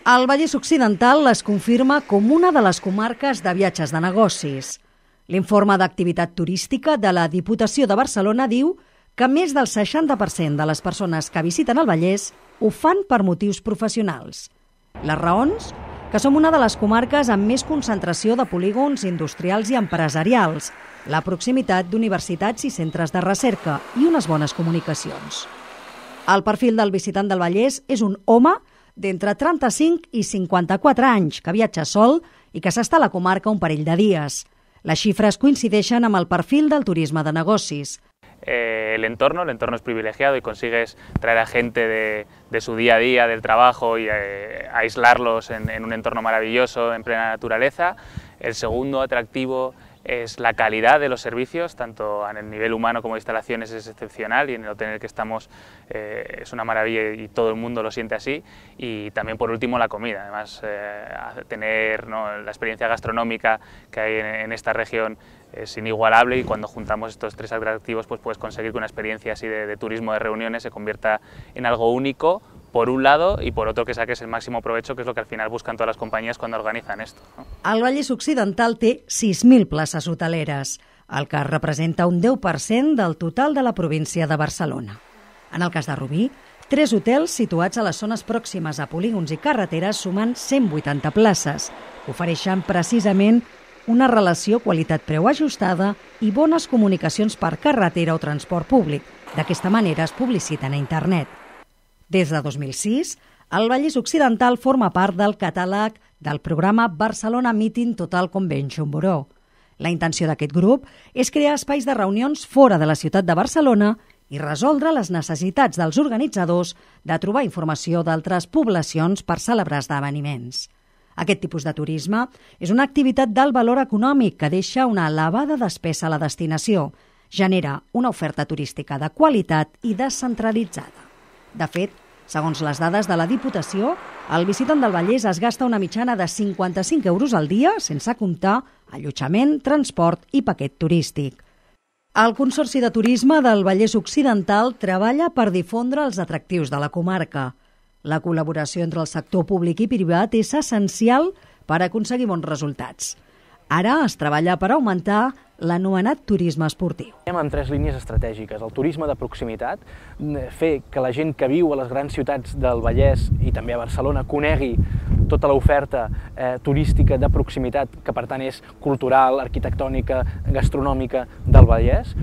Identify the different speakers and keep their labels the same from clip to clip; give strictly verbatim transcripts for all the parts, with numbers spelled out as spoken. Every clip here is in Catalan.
Speaker 1: El Vallès Occidental es confirma com una de les comarques de viatges de negocis. L'informe d'activitat turística de la Diputació de Barcelona diu que més del seixanta per cent de les persones que visiten el Vallès ho fan per motius professionals. Les raons? Que som una de les comarques amb més concentració de polígons industrials i empresarials, la proximitat d'universitats i centres de recerca i unes bones comunicacions. El perfil del visitant del Vallès és un home d'entre trenta-cinc i cinquanta-quatre anys, que viatja sol i que s'està a la comarca un parell de dies. Les xifres coincideixen amb el perfil del turisme de negocis.
Speaker 2: Eh, el entorno, el entorno es privilegiado y consigues traer a gente de, de su día a día, del trabajo y eh, aislarlos en, en un entorno maravilloso, en plena naturaleza. El segundo atractivo es la calidad de los servicios, tanto a nivel humano como de instalaciones es excepcional y en el hotel en el que estamos eh, es una maravilla y todo el mundo lo siente así. Y también por último la comida, además eh, tener, ¿no?, la experiencia gastronómica que hay en, en esta región es inigualable y cuando juntamos estos tres atractivos pues puedes conseguir que una experiencia así de, de turismo de reuniones se convierta en algo único, por un lado, y por otro que saques el máximo provecho, que es lo que al final buscan todas las compañías cuando organizan esto, ¿no?
Speaker 1: El Vallès Occidental té sis mil places hoteleres, el que representa un deu per cent del total de la província de Barcelona. En el cas de Rubí, tres hotels situats a les zones pròximes a polígons i carreteres sumen cent vuitanta places, que ofereixen precisament una relació qualitat-preu ajustada i bones comunicacions per carretera o transport públic. D'aquesta manera es publiciten a internet. Des de dos mil sis, el Vallès Occidental forma part del catàleg del programa Barcelona Meeting Total Convention Bureau. La intenció d'aquest grup és crear espais de reunions fora de la ciutat de Barcelona i resoldre les necessitats dels organitzadors de trobar informació d'altres poblacions per celebrar esdeveniments. Aquest tipus de turisme és una activitat d'alt valor econòmic que deixa una elevada despesa a la destinació, genera una oferta turística de qualitat i descentralitzada. De fet, segons les dades de la Diputació, el visitant del Vallès es gasta una mitjana de cinquanta-cinc euros al dia, sense comptar allotjament, transport i paquet turístic. El Consorci de Turisme del Vallès Occidental treballa per difondre els atractius de la comarca. La col·laboració entre el sector públic i privat és essencial per aconseguir bons resultats. Ara es treballa per augmentar l'anomenat turisme esportiu.
Speaker 3: Amb tres línies estratègiques. El turisme de proximitat, fer que la gent que viu a les grans ciutats del Vallès i també a Barcelona conegui tota l'oferta eh, turística de proximitat, que per tant és cultural, arquitectònica, gastronòmica del Vallès.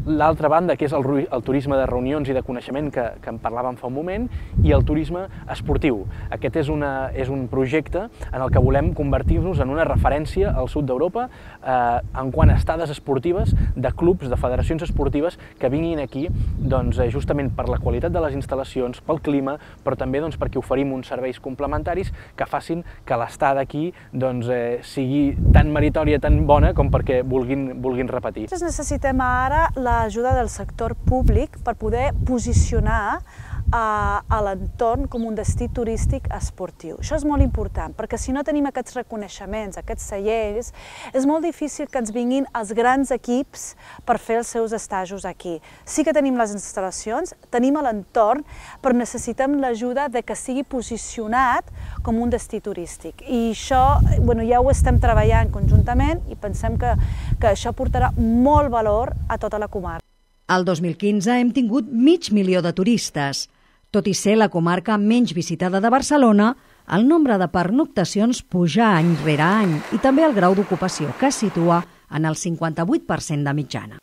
Speaker 3: L'altra banda, que és el, el turisme de reunions i de coneixement, que, que en parlàvem fa un moment, i el turisme esportiu. Aquest és, una, és un projecte en el que volem convertir-nos en una referència al sud d'Europa eh, en quant a estades esportives de clubs, de federacions esportives que vinguin aquí doncs, justament per la qualitat de les instal·lacions, pel clima, però també doncs, perquè oferim uns serveis complementaris que facin que l'estada aquí doncs, eh, sigui tan meritòria, tan bona, com perquè vulguin, vulguin repetir.
Speaker 4: Necessitem ara l'ajuda del sector públic per poder posicionar a, a l'entorn com un destí turístic esportiu. Això és molt important, perquè si no tenim aquests reconeixements, aquests seients, és molt difícil que ens vinguin els grans equips per fer els seus estajos aquí. Sí que tenim les instal·lacions, tenim l'entorn, però necessitem l'ajuda de que sigui posicionat com un destí turístic. I això bueno, ja ho estem treballant conjuntament i pensem que, que això portarà molt valor a tota la comarca.
Speaker 1: El dos mil quinze hem tingut mig milió de turistes. Tot i ser la comarca menys visitada de Barcelona, el nombre de pernoctacions puja any rere any i també el grau d'ocupació, que es situa en el cinquanta-vuit per cent de mitjana.